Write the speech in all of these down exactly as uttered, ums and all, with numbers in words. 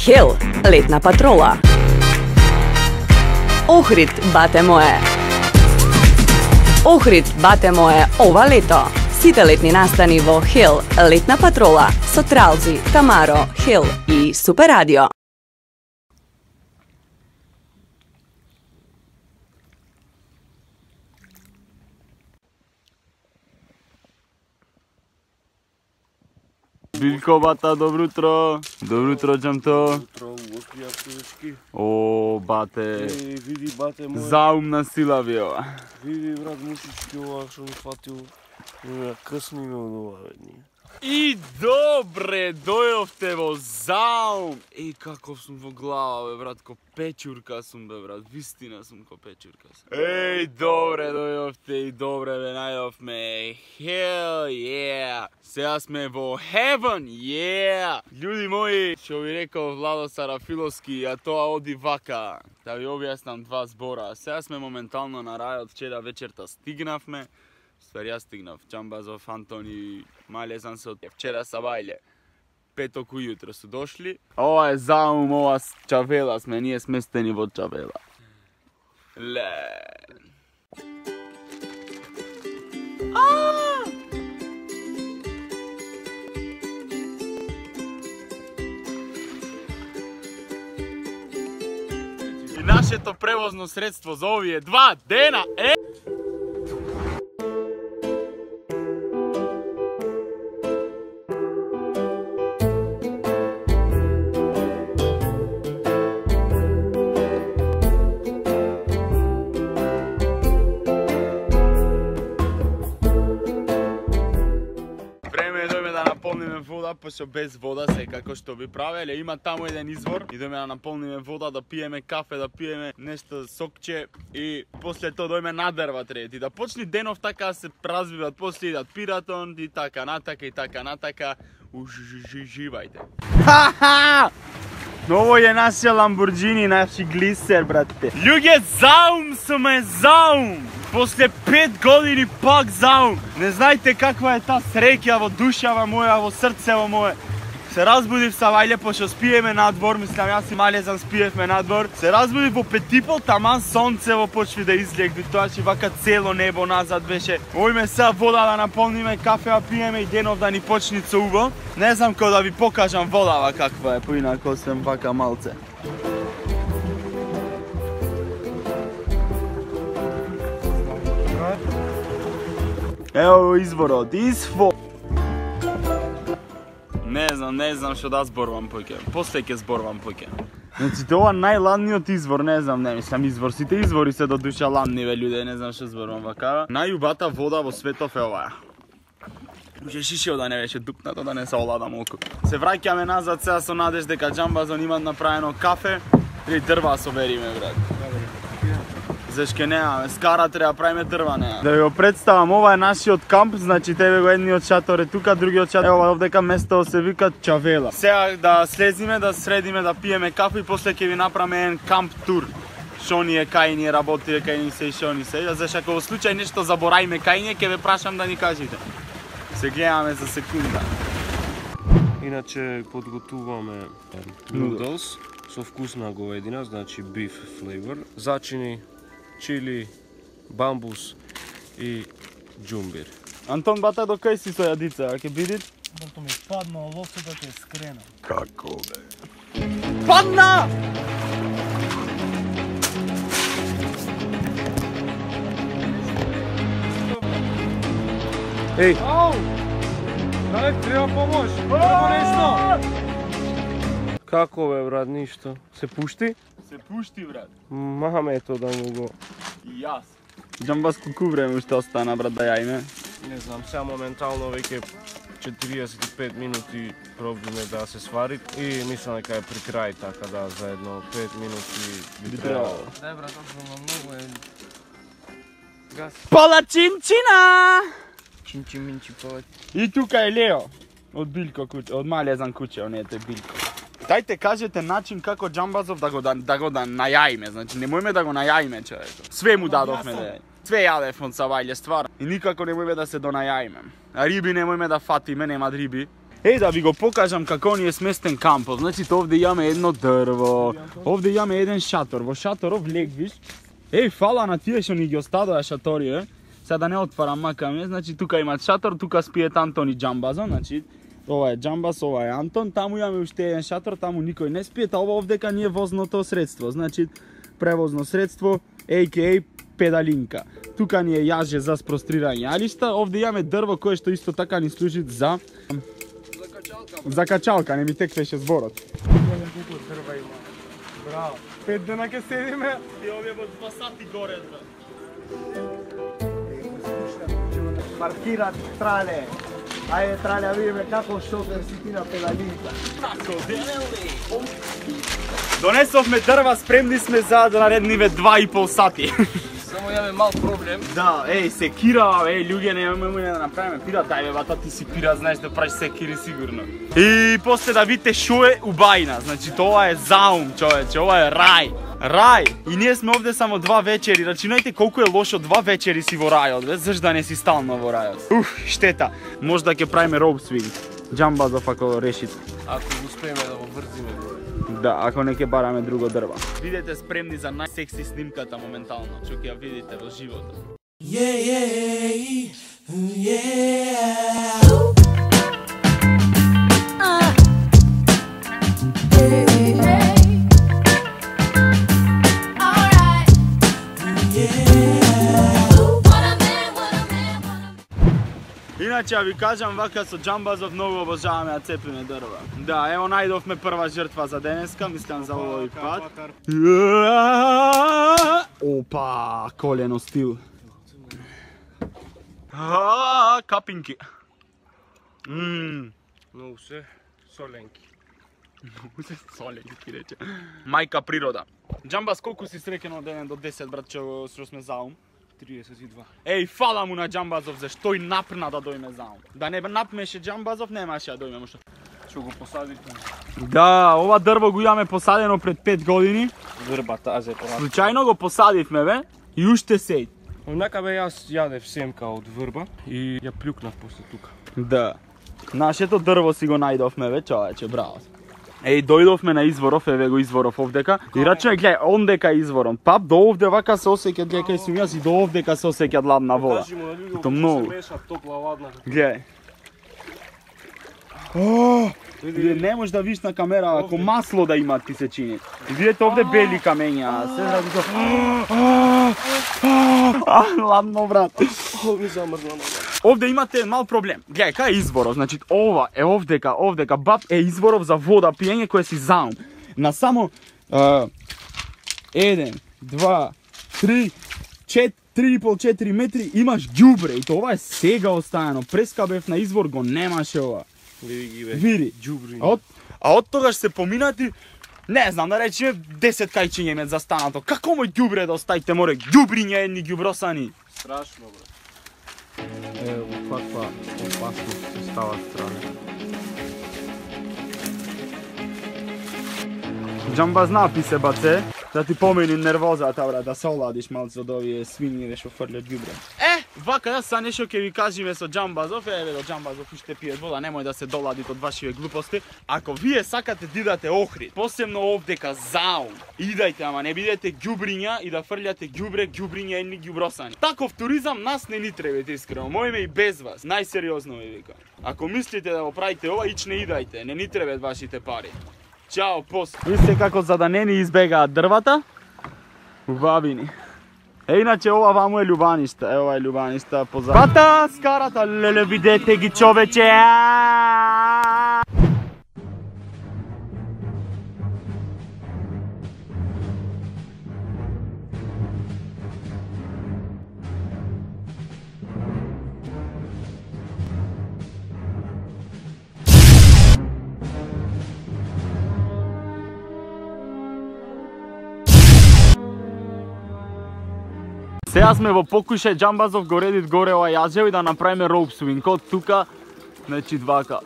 Хел, летна патрола. Охрид, бате мое. Охрид, бате мое, ова лето. Сите летни настани во Хел, летна патрола, со Тралзи, Тамаро, Хел и Супер Радио. Билко, бата, добро утро. Добро утро, Джамто. Утро, лоши активички. О, бате. Е, види, бате мој. Заумна сила ви ова. Види, брат, мушички, ова што ми фатил. Ме късни ме од ова, ведни. И добре, дојовте во заум. Еј, каков сум во глава, бе, брат, ко печурка сум, бе, брат. Вистина сум ко печурка сум. Еј, добре, дојовте и добре, бе, најдовме. Hell yeah! Сега сме во heaven, yeah! Луѓи мои, што ви рекол Владо Сарафиловски, а тоа оди вака. Да ви објаснам два збора. Сега сме моментално на рајот, вчера вечерта стигнавме. Ствари, јас стигнав, Джамбазов, Антони, Малезан се од вчера са бајле. Петок ујутро су дошли. Ова е заум, ова Чавела сме, ние сместени во Чавела. Ле. И нашето превозно средство за овие два дена е... Пошто без вода секако што би правеле, има таму еден извор, идеме да наполниме вода, да пиеме кафе, да пиеме нешто сокче и после тоа дојме на дрва трети, да почни денов така да се развиват, после идат пиратон и така натака и така натака, уживајте. Ха-ха! Ово е нашиот Ламборджини, наши глисер, брате. Луѓе, заум сме, заум! После пет години пак заум. Не знаете каква е та среќа во душава моја, во срцево мое. Се разбудив са вајле, пошто спиеме надвор, мислам јас и Малезан спиевме надвор. Се разбудив во петипол, таман сонцево почви да излегви, тоа че вака цело небо назад беше. Ојме сега вода да наполниме, кафе да пиеме и денов да ни почни цуво. Не знам кој да ви покажам водава каква е, поинако сум вака малце. Ево изворот, изфо. Не знам, не знам што да зборувам поќе. После ќе зборувам поќе. Значи тоа најладниот извор, не знам, не мислам извор, сите извори се до душа ладни, бе луѓе, не знам што зборувам вака. Најубата вода во светов е оваа. Уќе шишио да не беше дупнато, да не се олада молку. Се враќаме назад сега со надеж дека Джамбазон има направено кафе или дрва собериме, брат. Зашке немаме, скара треба правиме дрва неа. Да ви го представам, ова е нашиот камп, значи тебе го едниот шатор е тука, другиот шатор. Ева овдека место се вика Чавела. Сега да слезиме, да средиме, да пиеме кафе и после ќе ви направиме еден камп тур. Шо ни е, кај ни е работи, кај ни се и шо ни се. Зашто ако во случај нешто забораиме кај ни, ќе ве прашам да ни кажете. Се гледаме за секунда. Иначе подготуваме нудлс со вкусна говедина, значи beef flavor, зачини, чили, бамбус и џумбир. Антон, бата, до кај си со јадица, а ќе бидит? Дото ми паднал лофта да те скрена. Како бе? Падна! Еј! Ау! Дале, треба помош! Треба нешто! Како бе, брат, ништо? Се пушти? Се пушти, брат. Маме то да му го... И јас. Джамбас, колку време уште остана, брат, да јаиме? Не знам, сега моментално веќе четириесет и пет минути пробиме да се свари и мислам дека е при крај, така да за едно пет минути би требало. Дај, брат, одбрано многу е... Газ. Палачинчина! Чинчи минчи палач. И тука е Лео. Од Билко куче, од Малезан куче, он ете Билко. Дајте кажете начин како Джамбазов да го да, да го да најаиме, значи немојме да го најаиме, човече. Све му дадовме да јај. Све јадев од Савајле ствар. И никако немојме да се донајаиме. А риби немојме да фатиме, нема риби. Еј да ви го покажам како ни е сместен кампот. Значи овде имаме едно дрво, овде имаме еден шатор. Во шаторов легвиш. Еј, фала на тие што ни ги остадоа шаторие. Сега да не отварам макаме, значи тука имат шатор, тука спиет Антон и Джамбазо, значи ова е Джамбаз, ова е Антон, таму имаме уште еден шатор, таму никој не спие, а ова овдека ни е возното средство, значи превозно средство, а ка а педалинка. Тука ни е јаже за спрострирање алишта, овде имаме дрво кое што исто така ни служи за За качалка. за качалка, не ми текнеше зборот. Колку дрва има. Браво. Пет дена ќе седиме. И овие во два сати горе. Паркират трале. Ајде трале, а видиме како шофер си ти на педалинка. Тако, денели. Донесовме дрва, спремни сме за да наредниве два и пол сати. Само имаме мал проблем. Да, еј, секира, еј, луѓе, немаме да направиме пира, дај бе, бата, ти си пира, знаеш да правиш секири сигурно. И после да видите шо е убајна, значи тоа е заум, човече, ова е рај. Рај! И ние сме овде само два вечери, рачунајте колку е лошо два вечери си во рајот, бе, зашто да не си стално во рајот. Уф, штета, може да ќе правиме роуп свинг. Джамбазов ако решите. Ако успееме да го врзиме. Да, ако не ќе бараме друго дрва. Бидете спремни за најсекси снимката моментално, што ќе ја видите во животот. Yeah, yeah, yeah. Uh, hey, hey. All right. Yeah. What a man, what a man, what a man. Иначе, ја ви кажам, вака со Джамбазов многу обожаваме да цепиме дрва. Да, ево најдовме прва жртва за денеска, мислам за овој пат. Опа, колено стил. А, капинки. Мм, Многу се соленки. многу се соленки ти рече. Мајка природа. Джамбаз, колку си среќен од еден до десет, брат, што што сме заум? триесет и два. Еј, фала му на Джамбазов, зашто и напна да дојме заум. Да не напмеше Джамбазов, немаше да дојме мошто. Што го посадите? Да, ова дрво го имаме посадено пред пет години. Врба тазе порад. Случајно го посадивме, бе, и уште сеј. Онака бе јас јадев семка од врба и ја плюкнав после тука. Да. Нашето дрво си го најдовме, бе, човече, браво. Еј, дојдовме на изворов, еве го изворов овдека. И рачунај, гледај, ондека е извором. Пап, до овде вака се осеќа, гледај, кај сум јас и до овдека се осеќа ладна вода. Кажи му на луѓе, То многу. се меша топла ладна. Гледај. О, Вие не можеш да видиш на камера, ако масло да има ти се чини. И видите овде бели камења, се ради тоа. Ладно, брат. Овде замрзна. Овде имате мал проблем. Гледај, кај е изворов? Значи, ова е овдека, овдека, баб е изворов за вода, пиење кој си заум. На само uh, еден, два, три, четири, три и пол четири метри имаш ѓубре и тоа е сега оставено. Прескабев на извор го немаше ова. Види ги бе. Види. Ѓубри. А од, а од тогаш се поминати, не знам, да речеме десет кајчиња имат застанато. Како мој ѓубре да оставите, море, ѓубриња едни ѓубросани. Страшно бе. Ево каква опасност се става стране. Джамбаз написе, баце, да ти помени нервозата, брат, да се оладиш малце од овие свињи што фрлят ѓубре. Е, вака да са нешто ќе ви кажеме со Джамбазов, еве до Джамбазов уште пиет вода, немој да се доладите од вашите глупости. Ако вие сакате да идате Охрид, посебно овдека заум, идајте, ама не бидете ѓубриња и да фрљате ѓубре, ѓубриња едни ѓубросани. Таков туризам нас не ни требате, искрено, мојме и без вас, најсериозно ви викам. Ако мислите да го правите ова, ич не идајте, не ни требат вашите пари. Чао, пост. Вижте како за да не ни избегаат дрвата, убавини. Е, иначе ова ваму е љубаништа, е ова е љубаништа позади. Пата, скарата, леле, видете ги човече. Сега сме во покуше, Джамбазов го редит горе ова јазево и да направиме роуп свинг од тука, значи двака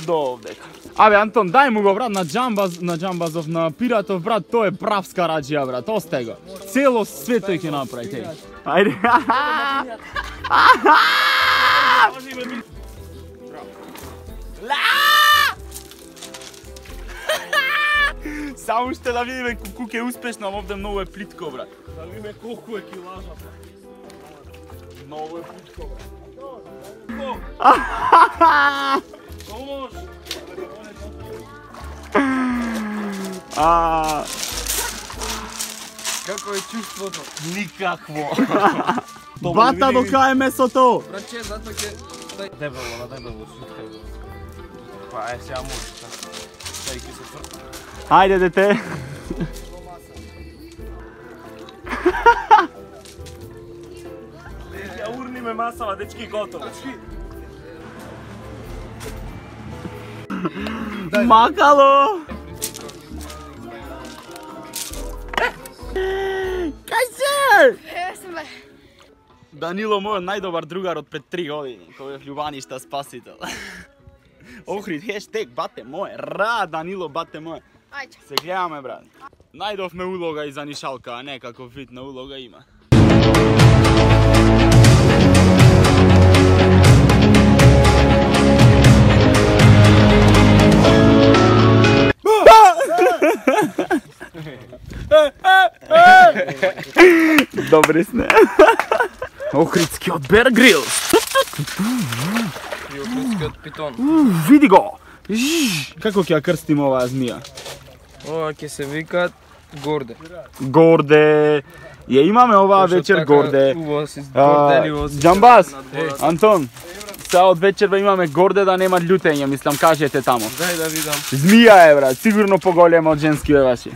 до овдека. Абе Антон, дај му го брат на Джамбаз, на Джамбазов, на Пиратов брат, тоа е прав скараџија брат, остај го. Цело свет тој ќе направи теј. Ајде. Само ще да видиме колку е успешно, ама овде многу е плитко, брат. Да видиме колку е килажа, брат. Многу е плитко, брат. Помош! А, Како е чувството? Никакво. бата до кај е месото? Братче, затоа ќе... Дебело, на дебело, шуткај го. Па е, сега може. Сега ќе се црпа. Ајде, дете. Ја урниме масава, дечки, готово. Макало! Кај се? Данило, мојот најдобар другар од пред три години, кој е влюбаништа спасител. Охрид, хештег, бате моје, ра, Данило, бате моје. Ајде. Се гледаме, брат. Најдовме улога и за нишалка, а не каков вид на улога има. Добри сне. Охридскиот Бер Грилс. И охридскиот питон. Види го. Како ќе ја крстим оваа змија? Ова ќе се викат горде. Горде. Ја имаме оваа вечер горде. Убаво си А, гордели во Џамбас, Антон, сега од вечерва имаме горде да нема љутење, мислам, кажете тамо. Дај да видам. Змија е, брат, сигурно поголема од женскиве ваши.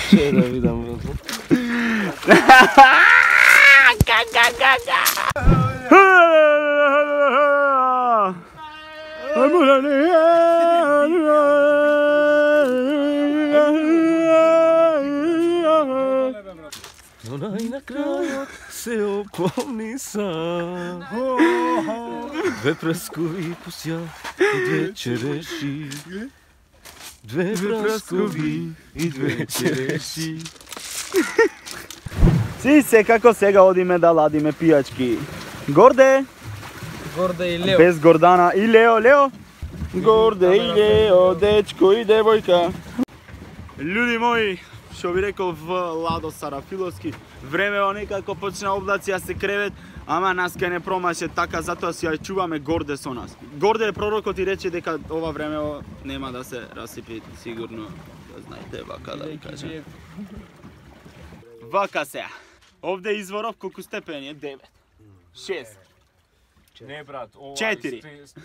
Че да видам, брат. Но најнакрајот се ополни сам. Две праскови пусја и две череши. Две праскови и две череши. Си се како сега одиме да ладиме пијачки. Горде, Горде и Лео. без Гордана и Лео, Лео. Горде и Лео, дечко и девојка. Луѓи мои, што би рекол в Ладо Сарафиловски, времево некако почна облаци да се кревет, ама нас ке не промаше така, затоа си ја чуваме горде со нас. Горде е пророкот и рече дека ова времево нема да се расипи, сигурно, да знаете, вака да ви кажам. Вака се. Овде изворов колку степени е? девет. шест. Не, брат, ова Четири. сте- сте-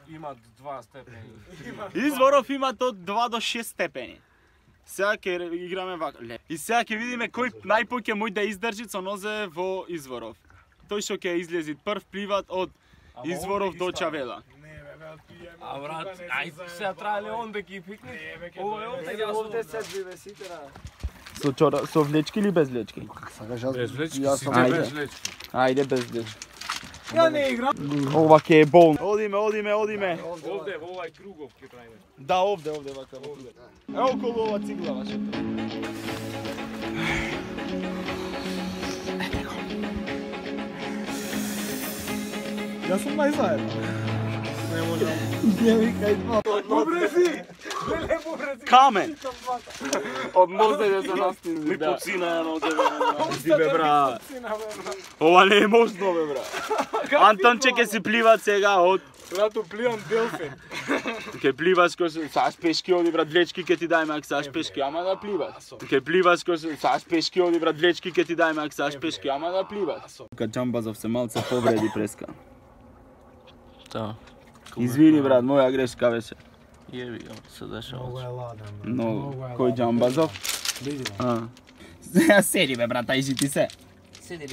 има два степени. Изворов имат од два до шест степени. Сега ќе играме вака. Ле. И сега ќе видиме кој најпоќе мој да издржи со нозе во изворов. Тој што ќе излези прв пливат од изворов до Чавела. А брат, ај сега трае ли он да ги пикне? Ова е овде, Овде седвиме сите на... Со чора, со влечки или без влечки? без влечки, Јас си сум Ајде. без влечки. Ајде без влечки. Ја не играм. Ова ќе е болно. Одиме, одиме, одиме. Овде, во овај кругов ќе трајме. Да, овде, овде вака. Ево околу ова цигла вашето. Јас сум најзаедно. Не можам. Не викај два. Побрези! Камен. Од нозе да се настигне. Ми поцина ја нозе. Иди бе брат. Ова не е можно бе брат. Антонче ќе си плива сега од Брато, пливам делфин. Ке пливаш кој се саш пешки оди брат влечки ке ти дајме ако саш пешки ама да пливаш. Ке пливаш кој се саш пешки оди брат влечки ке ти дајме ако саш пешки ама да пливаш. Ка Џамбазов се малце повреди преска. Да. Извини брат, моја грешка беше. Јеби го, се дешава. Много е ладен, бе. Но Много е кој ладен. Џамбазов? Види ме. А. Седи бе брат, ајжи ти се. Седи.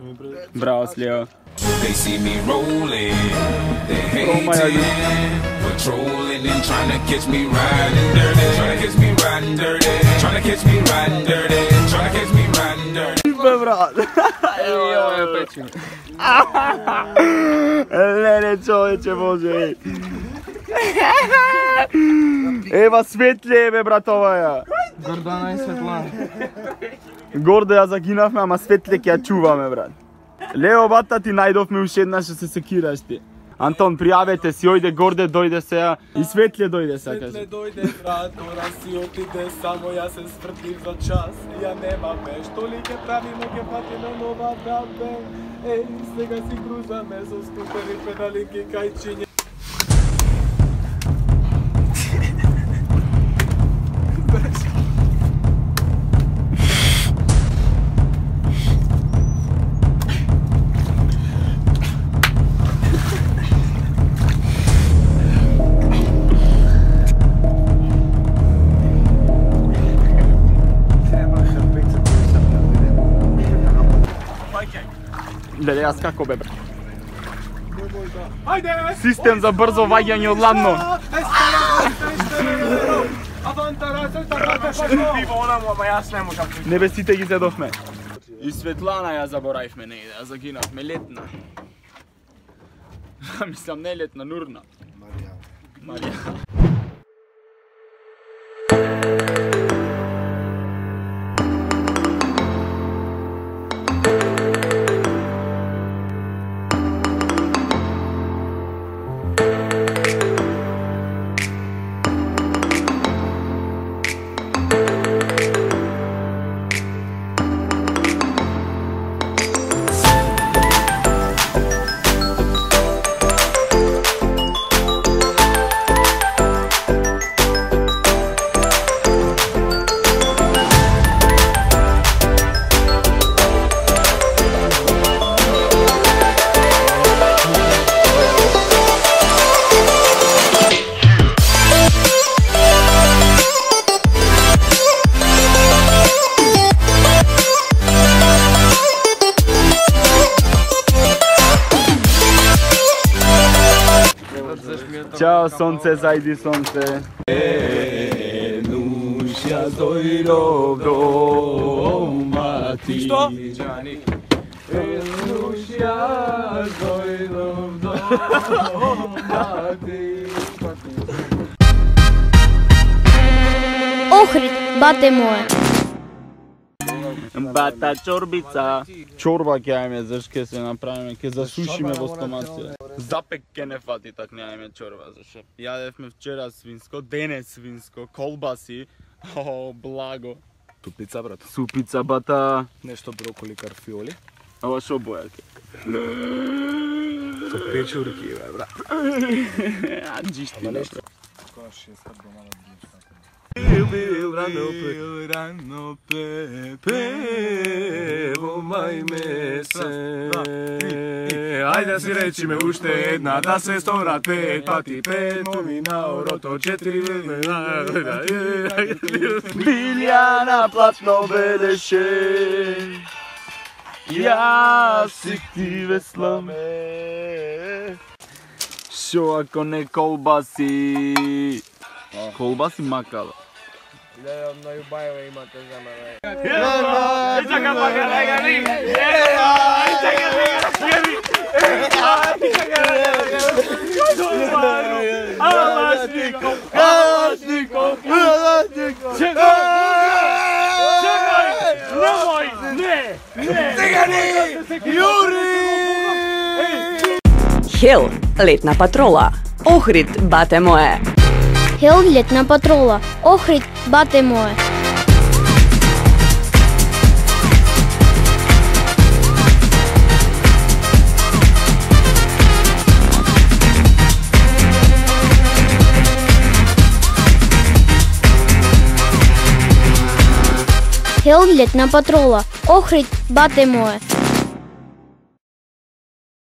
Браво Слео. They see me rolling, they Oh my hating, God. patrolling and trying to catch me riding dirty, trying to catch me riding dirty, trying to catch me riding dirty, trying to catch me riding dirty. Бе брат. Ево е печено. Леле човече може. Ева светле бе брат оваја. Гордана и Светлана. Гордо ја загинавме, ама светле ќе ја чуваме брат. Лео бата ти најдовме уште еднаш што се секираш ти. Антон, пријавете си, ојде горде, дојде сега. И Светле дојде сега, Светле кажи. дојде брат, ора си отиде, само ја се свртив за час. Ја немаме, што ли ке правиме, ке патиме нова бабе. Еј, сега си грузаме со скутери, педалинки, кајчиња. Леле, јас како бе, брат? Ајде! Систем за брзо ваѓање од ладно. Авантара, се така, пашко! Онаму, ама јас не можам. Небесите ги зедовме. И Светлана ја заборавивме негде, ја загинавме летна. Мислам не летна, Нурна. Марија. Марија. Ćao sonce, zajdi sonce. Venuša dojrov doma ti. Što? Venuša dojrov doma ti. Охрид, бате моје. Бата чорбица. Чорба ќе ајме, зашто ќе се направиме, ќе засушиме во стомација. Запек ќе не фати, так не ајме чорба, зашто јадевме вчера свинско, денес свинско, колбаси. О, благо. Тупица, брат. Супица, бата. Нешто броколи, карфиоли. Ова шо боја ке? Со печурки, бе, брат. А, джишти, бе. Бил рано рано пево мајме се. Ајде си речиме уште една, да се сторат пет пати пет, помина орото четири. Билјана платно белеше, јас и ти весламе. Шо ако не колбаси? Колбаси макала. Гледам на Јубајева имате за мене. Чака пака легари. Чака легари. Алашников, Алашников, Алашников. Чекај. Чекај. Немој. Не. Не. Цигани. Јури. Хел, летна патрола. Охрид, бате моје. Хел, летна патрола. Охрид, бате моје. Хел, летна патрола. Охрид, бате моје.